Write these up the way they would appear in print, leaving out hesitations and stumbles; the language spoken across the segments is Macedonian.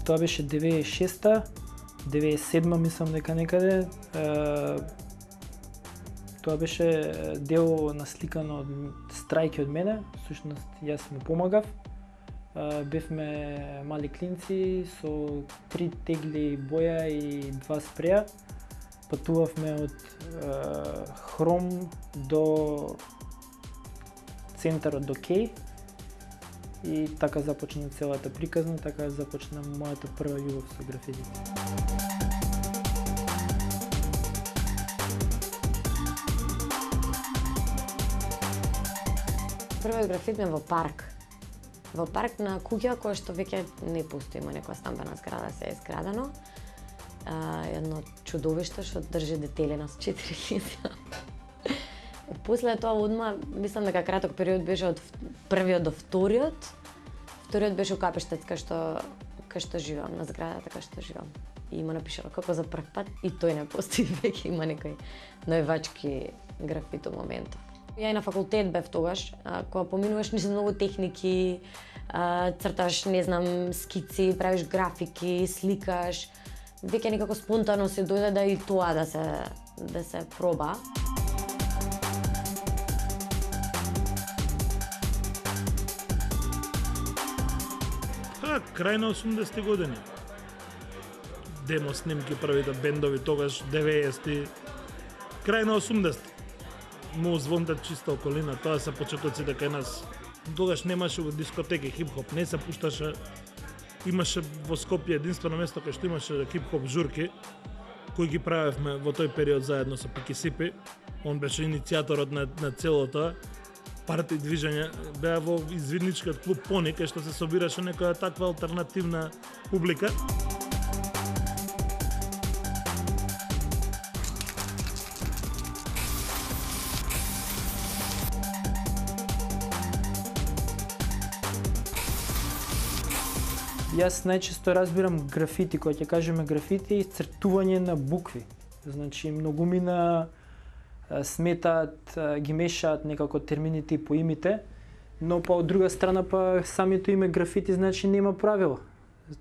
Тоа беше 96-та, 97-ма мислам дека некаде. Тоа беше дел насликано од Страјки од мене, всушност јас му помагав. Бевме мали клинци со 3 тегли боја и 2 спреја. Патувавме од Хром до центарот до Кеј и така започна целата приказна, така започна мојата прва љубов со графитите. Првиот графит ме во парк. Во парк на куќа која што веќе не постои, има некоја стамбена зграда, се е изградено. Едно чудовиште што држи детелина со 4 лица. После тоа одма, мислам дека краток период беше од првиот до вториот. Вториот беше у Капештец кај што живеам, на зградата кај што живеам. И има напишано како за прв пат и тој не постои веќе, има некои највачки графито моментов. Ја и на факултет бев тогаш, кога поминуваш низ многу техники, црташ, не знам, скици, правиш графики, сликаш. Веќе некако спонтано се дојде да и тоа да се проба. Крај на 80-ти години. Демо снимки, првите бендови тогаш, 90-ти. Крај на 80-ти. Му звонтат чиста околина, тоа се почетоците кај нас. Тогаш немаше дискотеки хип-хоп, не се пушташе. Имаше во Скопје единствено место кај што имаше хип-хоп журки, кои ги правевме во тој период заедно со Пики Сипи. Он беше иницијаторот на целото парти движење. Беа во извидничкиот клуб Пони, кај што се собираше некоја таква алтернативна публика. Јас најчесто разбирам графити, кога ќе кажеме графити, цртување на букви. Значи, многумина сметаат, ги мешаат некако термините и поимите, но па од друга страна па самото име графити значи нема правила.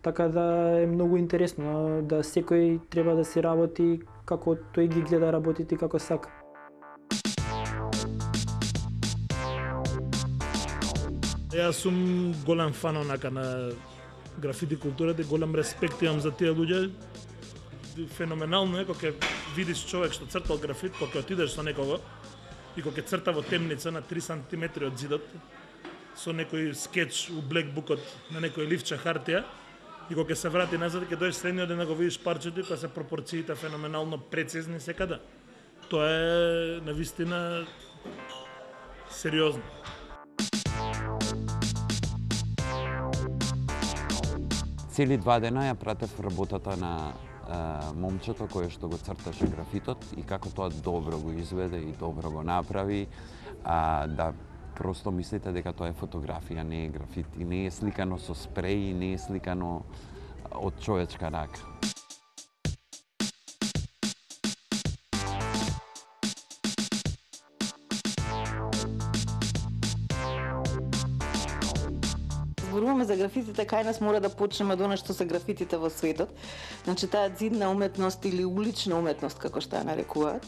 Така да е многу интересно да секој треба да се работи како тој ги гледа работите како сака. Јас сум голем фан онака на графити културата и голем респект имам за тие луѓе. Феноменално е кога видиш човек што цртал графит, кога отидеш со некого и кога црта во темница на 3 сантиметри од зидот со некој скеч у блекбукот на некој ливче хартија и кога се врати назад ќе дојдеш следниот ден да го видиш парчето и кога се пропорциите феноменално прецизни секаде. Тоа е навистина сериозно. Цели 2 дена ја пратев работата на момчето кое што го црташе графитот и како тоа добро го изведе и добро го направи, да просто мислите дека тоа е фотографија, не е графит и не е сликано со спреј и не е сликано од човечка рака. Зборуваме за графитите, кај нас мора да почнеме од она што се графитите во светот. Значи таа зидна уметност или улична уметност, како што ја нарекуваат,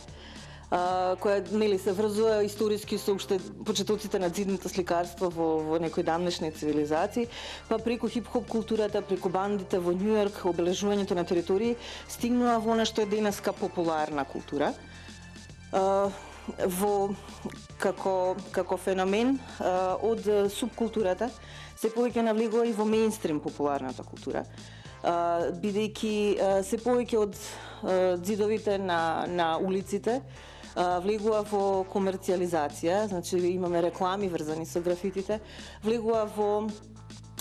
која нели се врзува историски со уште почетоците на зидното сликарство во некои дамнешни цивилизации, па преку хип-хоп културата, преку бандите во Њујорк, обележувањето на територии, стигнува во она што е денеска популарна култура. Како феномен од субкултурата се повеќе навлегува и во мејнстрим популарната култура, бидејќи се повеќе од зидовите на улиците влегува во комерцијализација, значи имаме реклами врзани со графитите, влегува во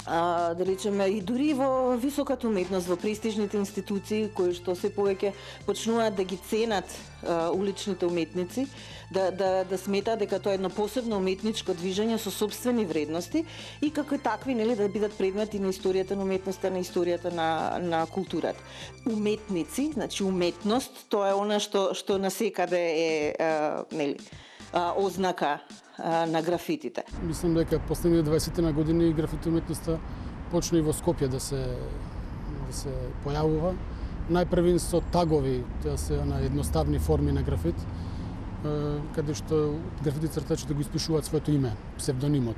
да речеме и дури во високата уметност, во престижните институции кои што се повеќе почнуваат да ги ценат уличните уметници, да сметаат дека тоа е едно посебно уметничко движење со собствени вредности и како такви нели да бидат предмети на историјата на уметноста, на историјата на културата. Уметници, значи уметност, тоа е она што насекаде е нели ознака на графитите. Мислам дека последните 20 на години графити уметноста почна и во Скопје да се се појавува. Најпрвин со тагови, тоа се едноставни форми на графит, каде што графити цртачите го испишуваат своето име, псевдонимот.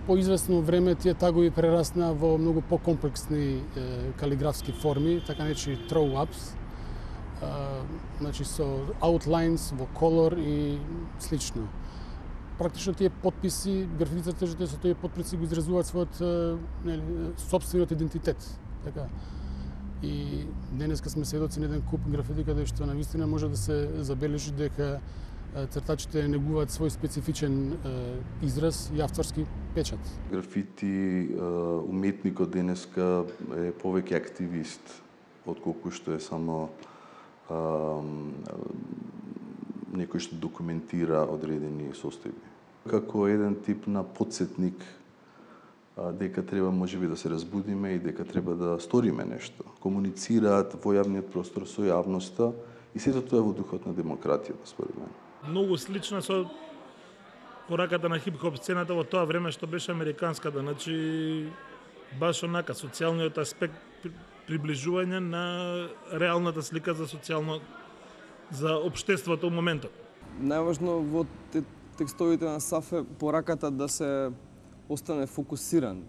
По известно време тие тагови прераснаа во многу покомплексни калиграфски форми, така наречени throw-ups, значи со outlines во колор и слично. Практично тие подписи, графити цртежите со тие подписи го изразуваат својот сопствениот идентитет. Така. И денеска сме сведоци на еден куп графити каде што навистина може да се забележи дека цртачите негуваат свој специфичен израз и авторски печат. Графити уметникот денеска е повеќе активист отколку што е само некој што документира одредени состојби. Како еден тип на потсетник дека треба можеби да се разбудиме и дека треба да сториме нешто. Комуницираат во јавниот простор со јавноста и сето тоа е во духот на демократијата, според мене. Многу слично со пораката на хип-хоп сцената во тоа време што беше американската, значи баш онака социјалниот аспект, приближување на реалната слика за за општеството во моментот. Најважно во текстовите на Сафе пораката да се остане фокусиран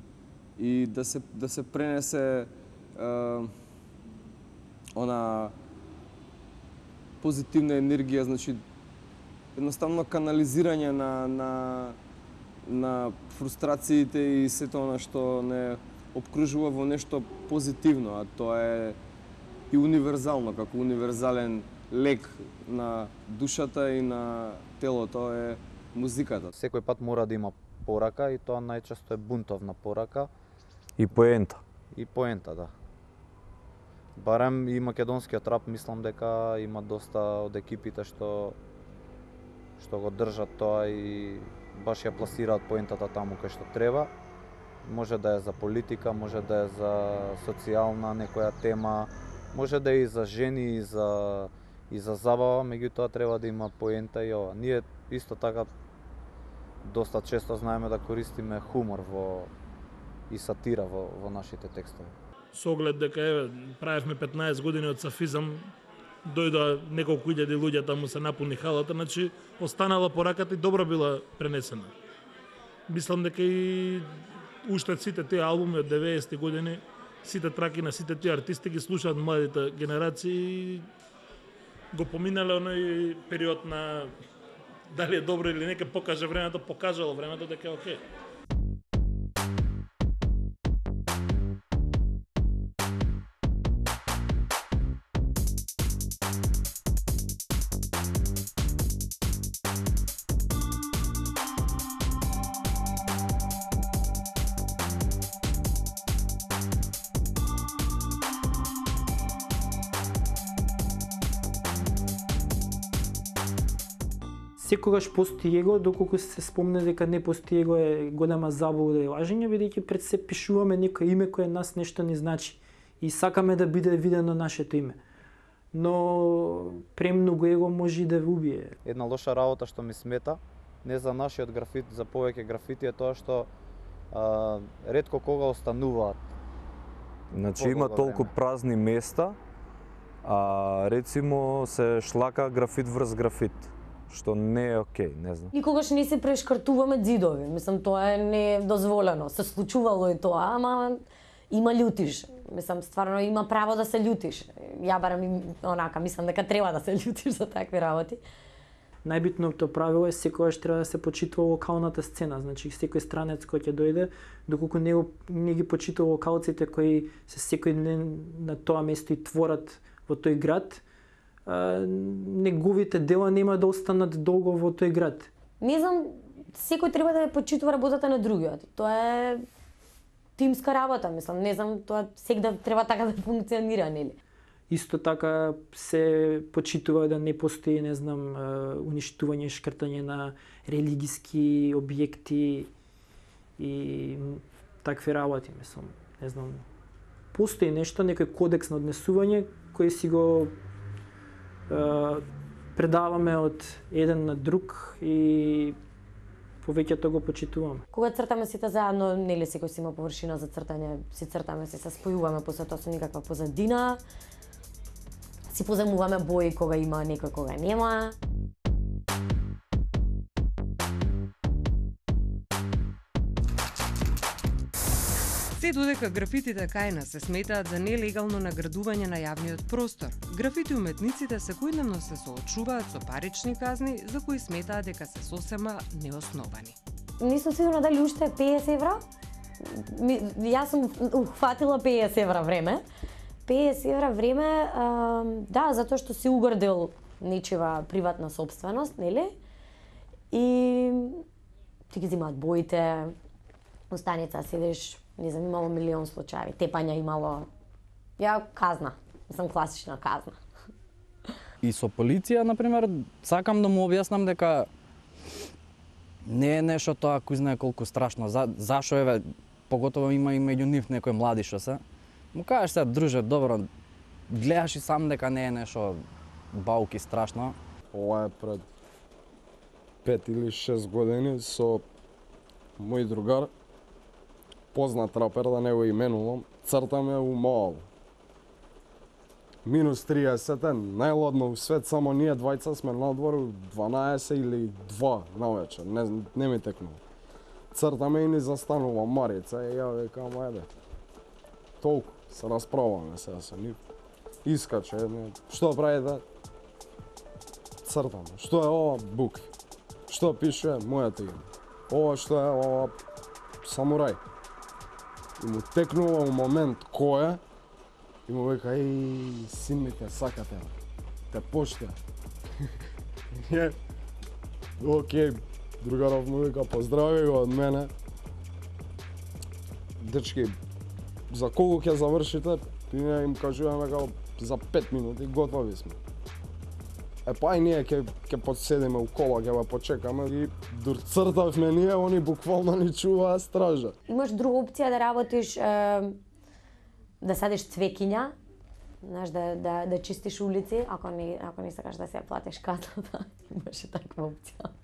и да се пренесе она позитивна енергија, значи едноставно канализирање на фрустрациите и сето она што не обкружува во нешто позитивно, а тоа е и универзално, како универзален лек на душата и на телото е музиката. Секој пат мора да има порака и тоа најчесто е бунтовна порака. И поента. И поента, да. Барем и македонскиот рап, мислам дека има доста од екипите што го држат тоа и баш ја пласираат поентата таму кај што треба. Може да е за политика, може да е за социјална некоја тема, може да е и за жени, и за забава, меѓутоа треба да има поента и ова. Ние исто така доста често знаеме да користиме хумор и сатира во нашите текстови. Со оглед дека правевме 15 години од сафизам, дојдоа неколку илјади луѓе таму се напуни халата, значи останала пораката и добро била пренесена. Мислам дека и уште сите тие албуми од 90-ти години, сите траки на сите тие артисти ги слушаат младите генерации, го поминале оној период на дали е добро или не, ке покаже времето, покажало времето дека е окей. Секогаш постои его, доколку се спомне дека не постои его е голема заблуда и лажење, бидејќи пред се пишуваме некој име кое нас нешто не значи и сакаме да биде видено нашето име. Но премногу его може и да ве убие. Една лоша работа што ми смета, не за нашиот графит, за повеќе графити е тоа што ретко кога остануваат. Значи има толку празни места, а рецимо се шлака графит врз графит, што не е окей, не знам. Никогаш не се прешкртуваме ѕидови, мислам тоа е недозволено. Се случувало и тоа, ама има љутиш. Мислам стварно има право да се љутиш. Ја барам онака, мислам дека треба да се љутиш за такви работи. Најбитното правило е секогаш треба да се почитува локалната сцена, значи секој странец кој ќе дојде, доколку не ги почитува локалците кои се секој ден на тоа место и творат во тој град, неговите дела нема да останат долго во тој град. Не знам, секој треба да ја почитува работата на другиот. Тоа е тимска работа, мислам, не знам, тоа сегда треба така да функционира, нели? Исто така се почитува да не постои, не знам, уништување, шкртање на религиски објекти и такви работи, мислам, не знам. Постои нешто, некој кодекс на однесување кој си го предаваме од еден на друг и повеќето го почитуваме. Кога цртаме сите заедно, нели секој си има површина за цртање, си цртаме, се спојуваме после тоа со никаква позадина. Си поземуваме бои кога има некој, кога нема. Се додека графитите кај нас се сметаат за нелегално наградување на јавниот простор, графити уметниците секојдневно се соочуваат со парични казни за кои сметаат дека се сосема неосновани. Не сум сигурна дали уште е 50 евра. Јас сум ухватила 50 евра време. 50 евра време, да, затоа што си угордил нечива приватна собственост, нели? И ти ги земаат боите, у станица седиш, не знам, имало милион случаи, тепања имало. Ја казна, сам класична казна. И со полиција, например, сакам да му објаснам дека не е нешто тоа кој знае колку страшно. Зашо еве, поготово има и меѓу нив некои млади што се. Му кажеш се, друже, добро, гледаш и сам дека не е нешто бауки страшно. Ова е пред 5 или 6 години со мој другар, познат рапер, да не го именувам, цртаме у Моал. Минус 30 е, најладно у свет, само ние двајца сме надвор 12 или 2 навечер, не ми текнува. Цртаме и ни застанува Марица и ја викам, ајде. Толку, се расправаме сега со нив. Искаче, што правите? Цртаме. Што е ова? Бук. Што пише? Мојата име. Ова што е? Ова самурај. И му текнува у момент кој е, и му века, еј, син ми те сакате, те поште. Океј, другаров му века, поздрави го од мене. Дечки, за колку ќе завршите? И ние им кажуваме како за 5 минути готови сме. Па и ние ќе подседиме у кола, ќе го почекаме и дур цртавме ние, они буквално ни чуваа стража. Имаш друга опција да работиш, да садиш цвекиња, знаеш, да чистиш улици, ако не сакаш да се ја платиш казната, имаше таква опција.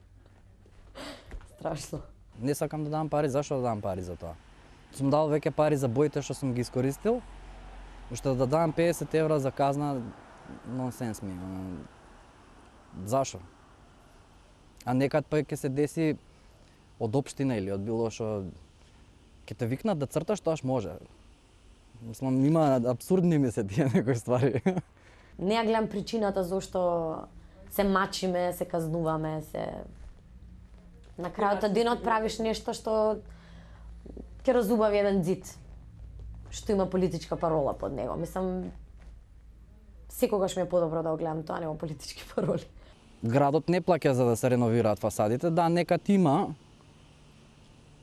Страшно. Не сакам да дам пари, зашо да дам пари за тоа? Сум дал веќе пари за боите што сум ги искористил, уште да дам 50 евра за казна, нонсенс ми. Зашо? А некад па ќе се деси од општина или од било што ќе те викнат да црташ, тоаш може. Мислам, има апсурдни ми се тие некои ствари. Не ја гледам причината зошто се мачиме, се казнуваме, се... На крајот од денот правиш нешто што ќе разубави еден зид, што има политичка парола под него. Мислам, секогаш ми е подобро да го гледам тоа, нема политички пароли. Градот не плаќа за да се реновираат фасадите, да, некад има.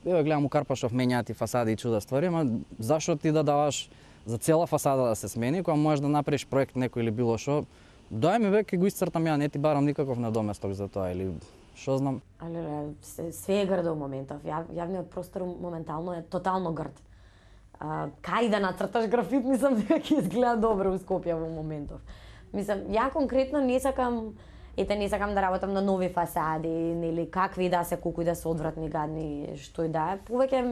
Еве гледам у Карпашов менјаат и фасади и чуда ствари, ама зашо ти да даваш за цела фасада да се смени, кога можеш да направиш проект некој или било што, дај ми веќе го исцртам ја, не ти барам никаков надоместок за тоа или што знам. Але све е грдо у моментов. Јавниот простор моментално е тотално грд. Кај да нацрташ графит, мислам дека ќе изгледа добро у Скопје во моментов. Мислам, ја конкретно не сакам да работам на нови фасади, нели какви да се, колку и да се одвратни, гадни, што и да е. Повеќе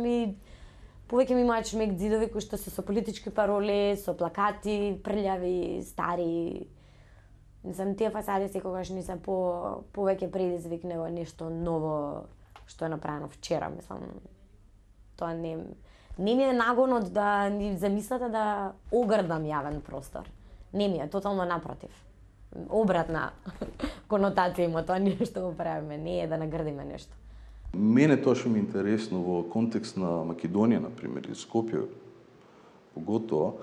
ми имаат шмек ѕидови кои што се со политички пароли, со плакати, прљави, стари. Мислам, тие фасади секогаш не се повеќе предизвик него нешто ново што е направено вчера, мислам. Тоа не ми е нагонот да ни замислата да огрдам јавен простор. Не ми е, тотално напротив. Обратна конотација има тоа нешто го правиме, не е да нагрдиме нешто. Мене тоа што ми е интересно во контекст на Македонија, например, и Скопје, поготово,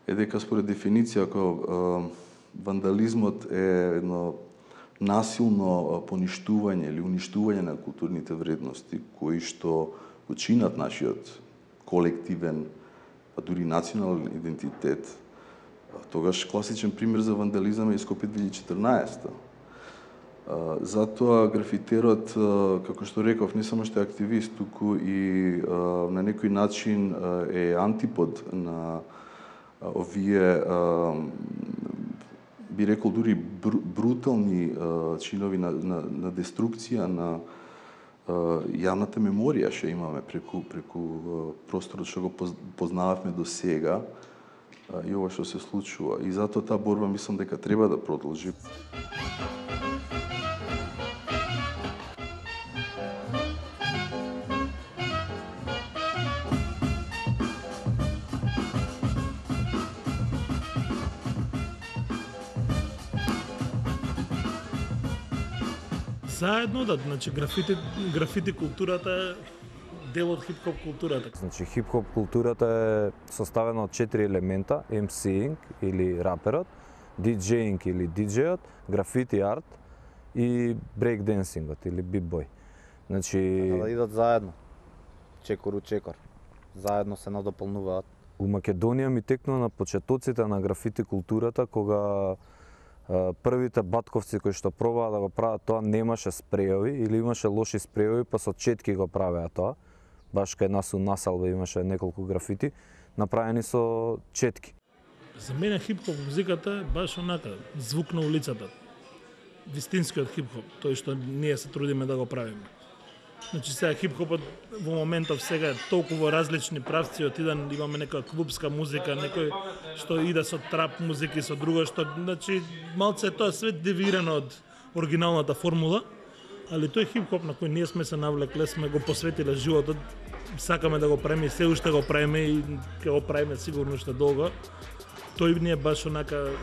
е дека според дефиниција како вандализмот е едно насилно поништување или уништување на културните вредности кои што го чинат нашиот колективен, па дури национален идентитет. Тогаш класичен пример за вандализам е Скопје 2014. Затоа графитерот, како што реков, не само што е активист, туку и на некој начин е антипод на овие, би рекол, дури брутални чинови на деструкција, на Јавната меморија што имаме преку просторот што го познававме до сега и ова што се случува. И затоа таа борба мислам дека треба да продолжи. Заедно да, значи графити културата е дел од хип-хоп културата. Значи хип-хоп културата е составена од 4 елемента: MC-инг или раперот, DJ-инг или диџејот, графити арт и брейк-денсингот или бит-бој. Значи да идат заедно. Чекор у чекор. Заедно се надополнуваат. У Македонија ми текнува на почетоците на графити културата, кога првите батковци кои што пробаа да го прават тоа немаше спреови или имаше лоши спреови, па со четки го правеа тоа. Баш кај нас у Насалба имаше неколку графити направени со четки. За мене хип-хоп музиката е баш онака, звук на улицата. Вистинскиот хип-хоп, тој што ние се трудиме да го правиме. Значи сега хип-хопот во моментов сега е толку во различни правци, од еден имаме нека клубска музика, некој што иде со трап музика и со друго што, значи малце е тоа све девирано од оригиналната формула, али тој хип-хоп на кој ние сме се навлекле, сме го посветиле животот, сакаме да го правиме и се уште го правиме и ќе го правиме сигурно уште долго. Тој ни е баш онака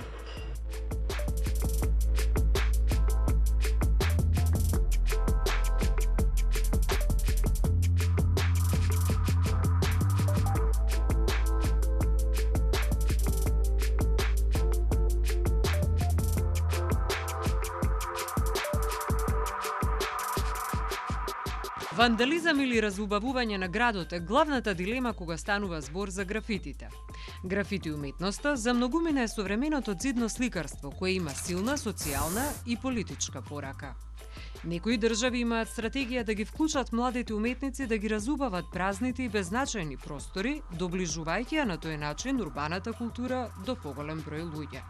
Вандализам или разубавување на градот е главната дилема кога станува збор за графитите. Графити уметноста за многумина е современото ѕидно сликарство, кое има силна социјална и политичка порака. Некои држави имаат стратегија да ги вклучат младите уметници да ги разубават празните и беззначајни простори, доближувајќи ја на тој начин урбаната култура до поголем број луѓе.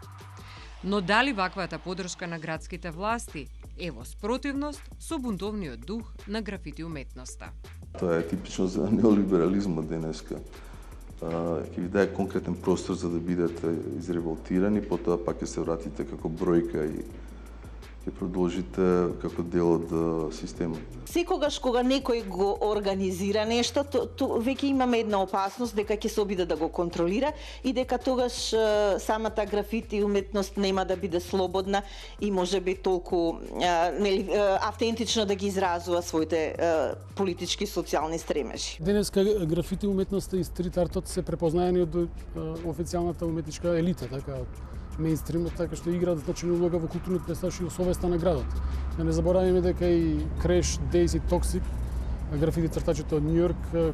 Но дали ваквата подршка на градските власти е во спротивност со бунтовниот дух на графити уметноста? Тоа е типично за неолиберализмот денеска. Ќе ви даде конкретен простор за да бидете изреволтирани, потоа пак ќе се вратите како бројка и ќе продолжите како дел од системот. Секогаш кога некој го организира нешто, веќе имаме една опасност дека ќе се обиде да го контролира и дека тогаш самата графити уметност нема да биде слободна и можеби толку автентично да ги изразува своите политички социјални стремежи. Денеска графити уметноста и стрит артот се препознаени од официјалната уметничка елита, така мејнстримот, така што играат значајна улога во културниот пейзаж и во совеста на градот. Да не забораваме дека и Креш, Дейс и Токсик, графити цртачите од Њујорк,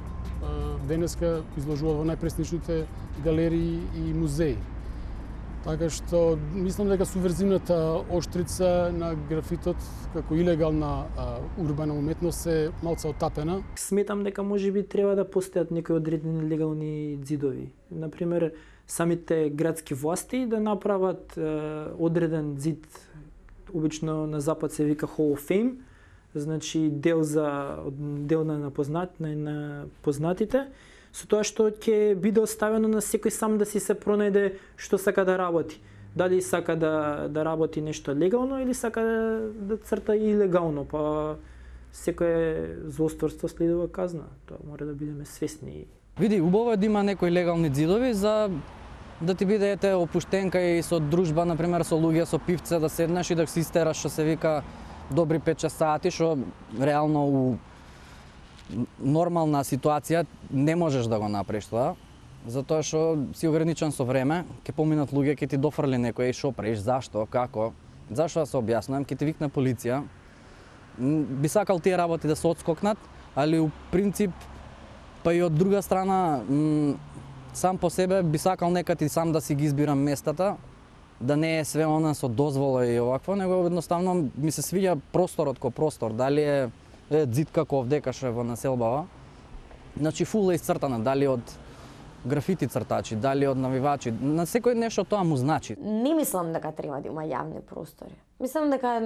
денеска изложуваат во најпрестижните галерии и музеи. Така што мислам дека субверзивната оштрица на графитот како илегална урбана уметност е малце отапена. Сметам дека можеби треба да постојат некои одредени легални ѕидови. Например, самите градски власти да направат одреден ѕид, обично на запад се вика Hall of Fame, значи дел на познатите, со тоа што ќе биде оставено на секој сам да си се пронајде што сака да работи. Дали сака да работи нешто легално или сака да црта илегално, па секое злосторство следува казна. Тоа мора да бидеме свесни. Види, убаво е да има некои легални ѕидови за да ти биде опуштенка и со дружба, например, со луѓе, со пивце, да седнеш и да си истераш, што се вика, добри 5-6 сати, што реално у нормална ситуација не можеш да го направиш тоа, затоа што си ограничен со време, ќе поминат луѓе, ќе ти дофрли некој, што правиш, зашто, како, зашто да се објаснувам, ќе ти викне полиција. Би сакал тие работи да се одскокнат, али у принцип, па и од друга страна, сам по себе би сакал некад и сам да си ги избирам местата, да не е све она со дозвола и овакво, него едноставно ми се свиѓа просторот ко простор, дали е ѕид како овдека што е во населбава. Значи фул е исцртана, дали од графити цртачи, дали од навивачи, на секој нешто тоа му значи. Не мислам дека треба да има јавни простори. Мислам дека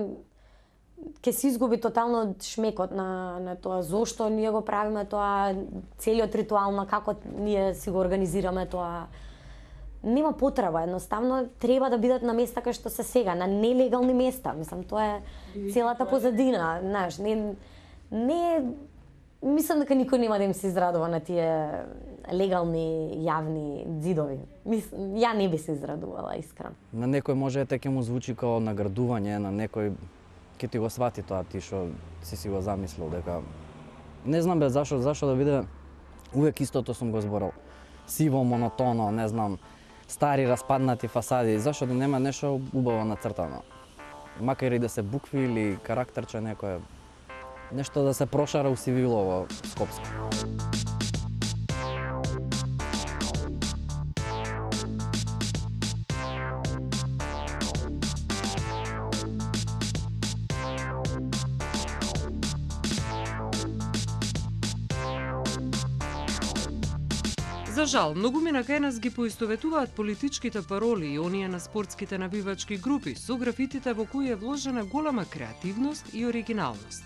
ќе се изгуби тотално шмекот на тоа зошто ние го правиме тоа, целиот ритуал на како ние си го организираме тоа. Нема потреба, едноставно треба да бидат на места кај што се сега, на нелегални места. Мислам, тоа е целата позадина, знаеш, не мислам дека никој нема да им се израдува на тие легални јавни ѕидови. Ја не би се израдувала, искрено. На некој може ќе му звучи како наградување, на некој ќе ти го свати тоа ти што си го замислил дека не знам бе зашо да биде увек истото сум го зборал. Сиво, монотоно, не знам, стари распаднати фасади, зашо да нема нешто убаво нацртано. Макар и да се букви или карактерче некое, нешто да се прошара усивилово Скопско. За жал, многумина кај нас ги поистоветуваат политичките пароли и оние на спортските набивачки групи со графитите во кои е вложена голема креативност и оригиналност.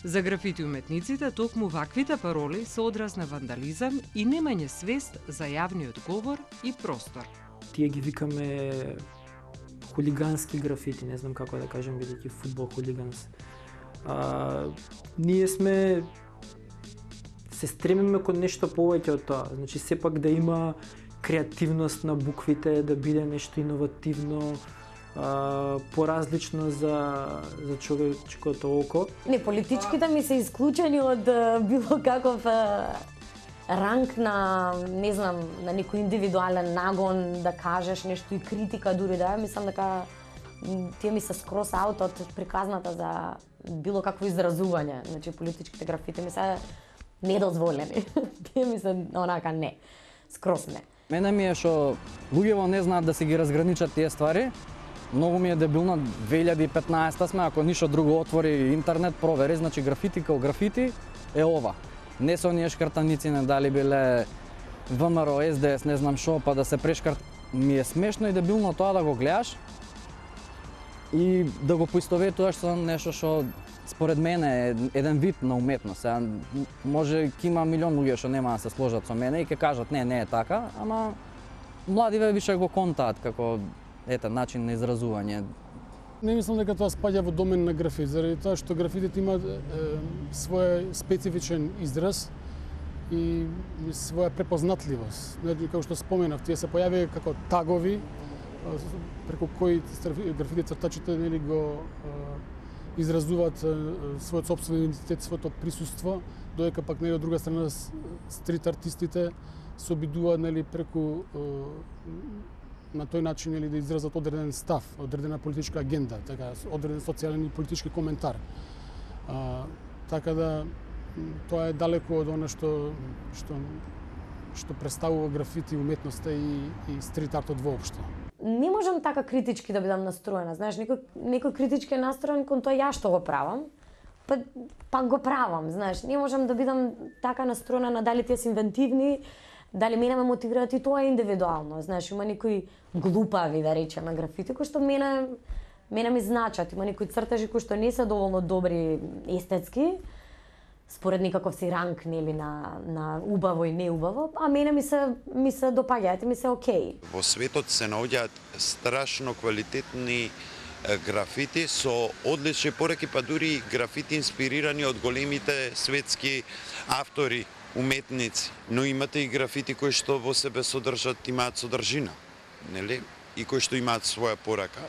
За графити уметниците, токму ваквите пароли се одраз на вандализам и немање свест за јавниот говор и простор. Тие ги викаме хулигански графити, не знам како да кажем, бидејќи фудбал хулиганс. Ние се стремиме кон нешто повеќе од тоа. Значи, сепак да има креативност на буквите, да биде нешто иновативно, поразлично за човечкото око. Не, политичките ми се исклучени од било каков ранг на, не знам, на некој индивидуален нагон, да кажеш нешто и критика дури да е. Мислам дека тие ми се скрос аут од приказната за било какво изразување. Значи, политичките графити ми се недозволени. Тие ми се онака не. Скрос не. Мене ми е што луѓето не знаат да се ги разграничат тие ствари. Многу ми е дебилно, 2015 сме, ако ништо друго отвори интернет, провери, значи графити као графити е ова. Не со оние шкртаници, не дали биле ВМРО, СДС, не знам шо, па да се прешкрт. Ми е смешно и дебилно тоа да го гледаш и да го поистоветуваш со нешто што според мене е еден вид на уметност. Може ќе има милион луѓе што нема да се сложат со мене и ќе кажат не е така, ама младиве више го контаат како начин на изразување. Не мислам дека тоа спаѓа во домен на графит, заради тоа што графитите имаат свој специфичен израз и своја препознатливост. Како што споменав, тие се појавија како тагови преку кои графити цртачите го изразуваат својот сопствен идентитет, своето присуство, додека пак од друга страна стрит артистите се обидуваат преку на тој начин да изразат одреден став, одредена политичка агенда, така одреден социјален и политички коментар. Така да тоа е далеко од она што представува графити уметноста и стрит артот воопшто. Не можам така критички да бидам настроена, знаеш, некој критички е настроен кон тоа ја што го правам, па го правам, знаеш, не можам да бидам така настроена на дали тие се инвентивни, дали мене ме мотивираат и тоа е индивидуално, знаеш, има некои глупави, да речеме, графити, кои што мене ми значат, има некои цртажи кои што не се доволно добри естетски, според никаков си ранг, нели, на убаво и неубаво, а мене ми се допаѓаат и ми се окей. Во светот се наоѓаат страшно квалитетни графити со одлични пореки, па дури графити инспирирани од големите светски автори, уметници. Но имате и графити кои што во себе имаат содржина, нели? И кои што имаат своја порака.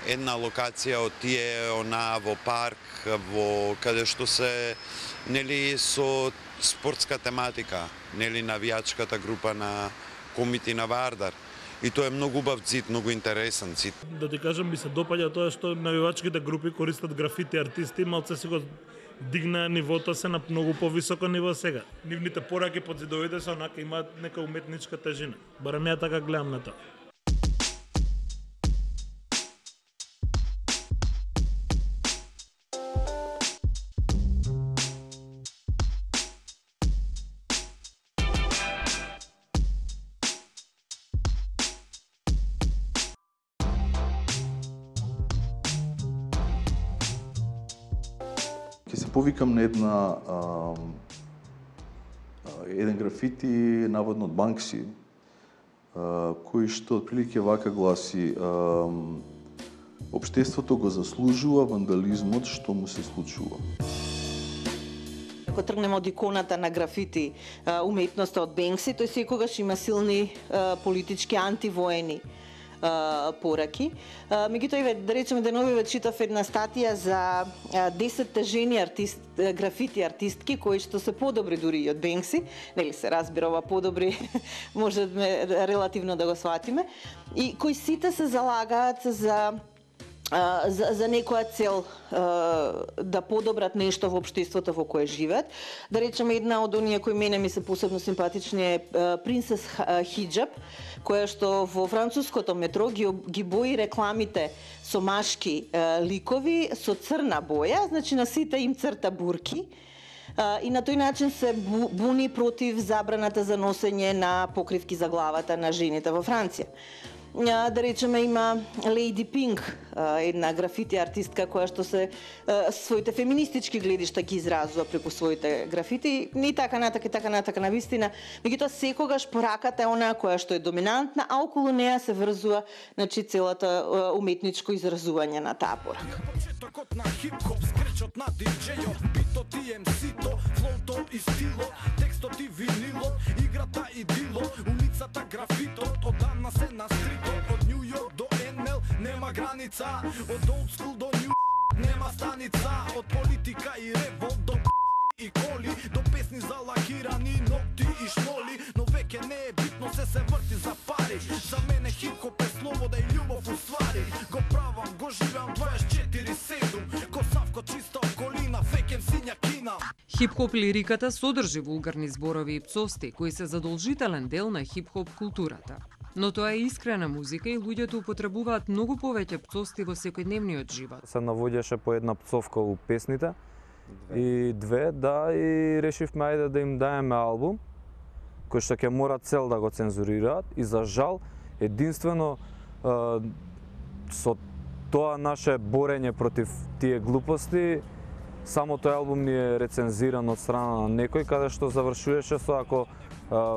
Една локација од тие во парк, каде што се со спортска тематика, навијачката група на Комити на Вардар. И тоа е многу убав цит, многу интересен цит. Да ти кажам, ми се допаѓа тоа што навивачките групи користат графити артисти, малце си го дигна нивото се на многу повисоко ниво сега. Нивните пораки под зидовите се онака имаат нека уметничка тежина. Барем ја така гледам на тоа. Ќе се повикам на еден графити наводно од Банкси, кој што отприлике вака гласи: општеството го заслужува вандализмот што му се случува. Ако тргнеме од иконата на графити уметноста од Бенкси, тој секогаш има силни политички антивоени пораки. Меѓутоа, да речеме, деновиве читав една статија за 10 жени графити артистки кои што се подобри дури и од Бенкси. Нели се разбира, ова подобри можеме релативно да го сватиме. И кои сите се залагаат за некоја цел да подобрат нешто во општеството во кое живеат. Да речеме, една од оние кои мене ми се посебно симпатични е Принцес Хиджаб, која што во француското метро ги бои рекламите со машки ликови со црна боја, значи на сите им црта бурки. И на тој начин се буни против забраната за носење на покривки за главата на жените во Франција. Да речеме, има Лејди Пинк, една графити артистка која што се своите феминистички гледишта ги изразува преку своите графити, и така натака на вистина. Меѓутоа секогаш пораката е она која што е доминантна, а околу неа се врзува, значи, целата уметничко изразување на таа порака. Почетокот на хип-хоп, скречот на диджејот, битот и МС-то, флоуто и стилот, текстот и винилот, играта и дилот, улицата графитот, одамна се на стрит. Од Нью Йорк до НЛ нема граница, од Олд Скул до Нью нема станица, од политика и револт до и коли, до песни за лакирани ногти и шноли, но веќе не е битно, се врти за пари. За мене хип-хоп е слобода и љубов уствари. Го правам, го живеам 24/7, ко Савко чиста околина, веќе сиња кина. Хип-хоп лириката содржи вулгарни зборови и пцовсти, кои се задолжителен дел на хип-хоп културата. Но тоа е искрена музика и луѓето употребуваат многу повеќе пцовсти во секојдневниот живот. Се навоѓаше по една пцовка у песните и и решивме ајде да им даеме албум кој што ќе мора цел да го цензурираат и за жал единствено со тоа наше борење против тие глупости само тој албум ни е рецензиран од страна на некој, каде што завршуваше со: ако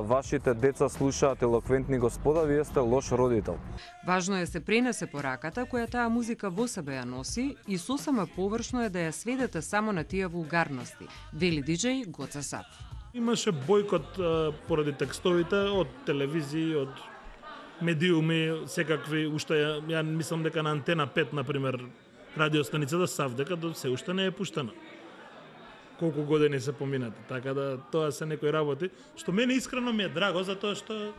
вашите деца слушаат елоквентни господа, вие сте лош родител. Важно е се пренесе пораката која таа музика во себе ја носи и сосема површно е да ја сведете само на тие вулгарности, вели диџеј Гоца Сап. Имаше бойкот поради текстовите од телевизии, од медиуми, секакви, уште ја мислам дека на Антена 5, например, радиостаницата Савдека до се уште не е пуштена. Колку години се поминати, така да тоа се некои работи, што мене искрено ми е драго, затоа што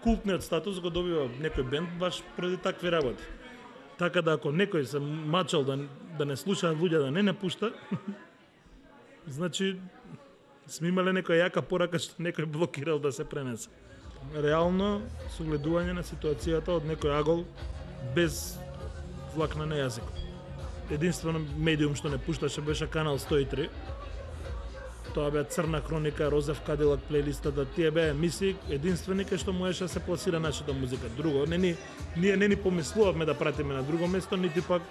култниот статус го добива некој бенд баш поради такви работи. Така да ако некој се мачал да не слуша луѓе, да не пушта, значи сме имале некоја јака порака што некој блокирал да се пренесе. Реално согледување на ситуацијата од некој агол без влакна на јазикот. Единствено медиум што не пушташе беше Канал 103. Тоа беа Црна хроника, Розев Кадилак плейлистата, тие беа емисии единствени кај што можеше да се пласира нашата музика. Друго, ние не ни помислувавме да пратиме на друго место, нити пак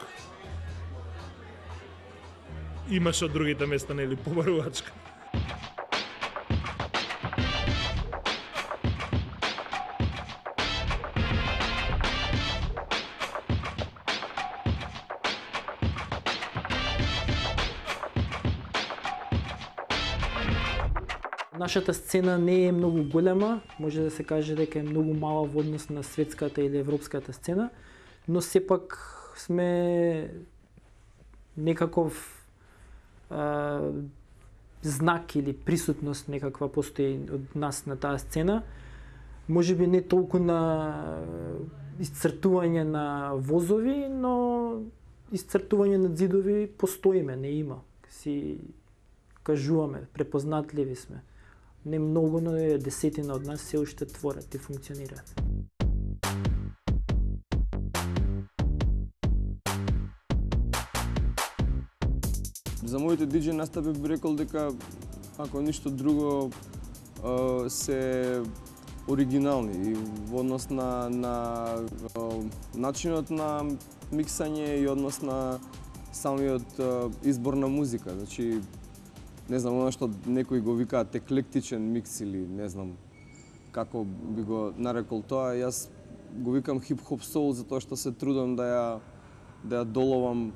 имаше од другите места, нели, побарувачка. Нашата сцена не е многу голема, може да се каже дека е многу мала во однос на светската или европската сцена, но сепак сме некаков знак или присутност некаква постои од нас на таа сцена. Можеби не толку на исцртување на возови, но исцртување на ѕидови постоиме, не има. Си кажуваме, препознатливи сме. Не многу, но е десетина од нас се уште творат и функционираат. За моите диџеј настапи би рекол дека, ако ништо друго, се оригинални и во однос на начинот на миксање и однос на самиот избор на музика. Значи, не знам, оно што некои го викаат еклектичен микс или не знам како би го нарекол тоа, јас го викам хип-хоп соул затоа што се трудам да ја доловам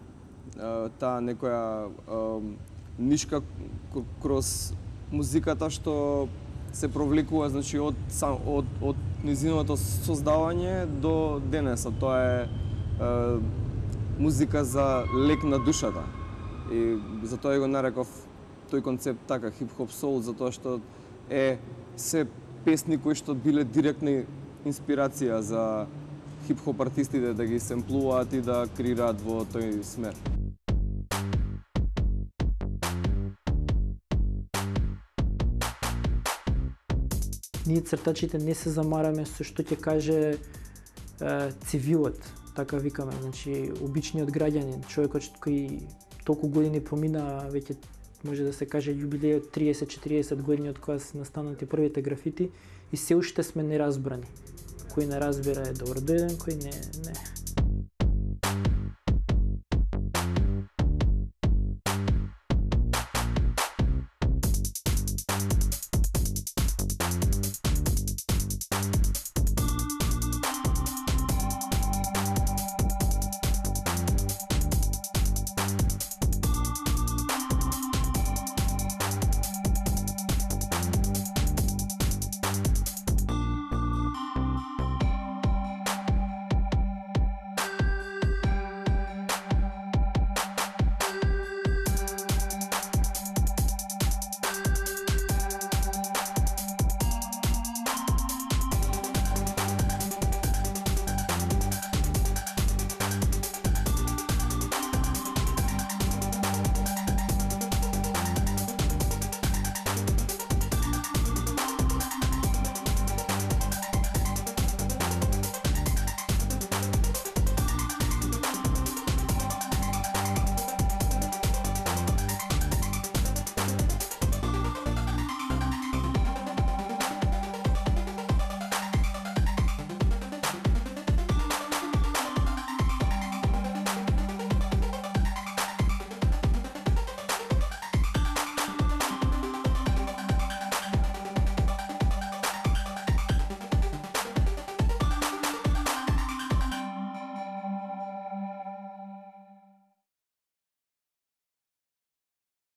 таа некоја нишка кроз музиката што се провлекува, значи од низиното создавање до денеса. Тоа е музика за лек на душата. И затоа го нареков тој концепт така хип-хоп соул, затоа што е се песни кои што биле директна инспирација за хип-хоп артистите да ги семплуваат и да креираат во тој смер. Ние цртачите не се замараме со што ќе каже цивилот, така викаме, значи обичниот граѓанин, човекот кој толку години помина, веќе може да се каже јубилејот 30-40 години од кога се настанати првите графити и се уште сме неразбрани. Кој не разбира е добро дојден, кој не.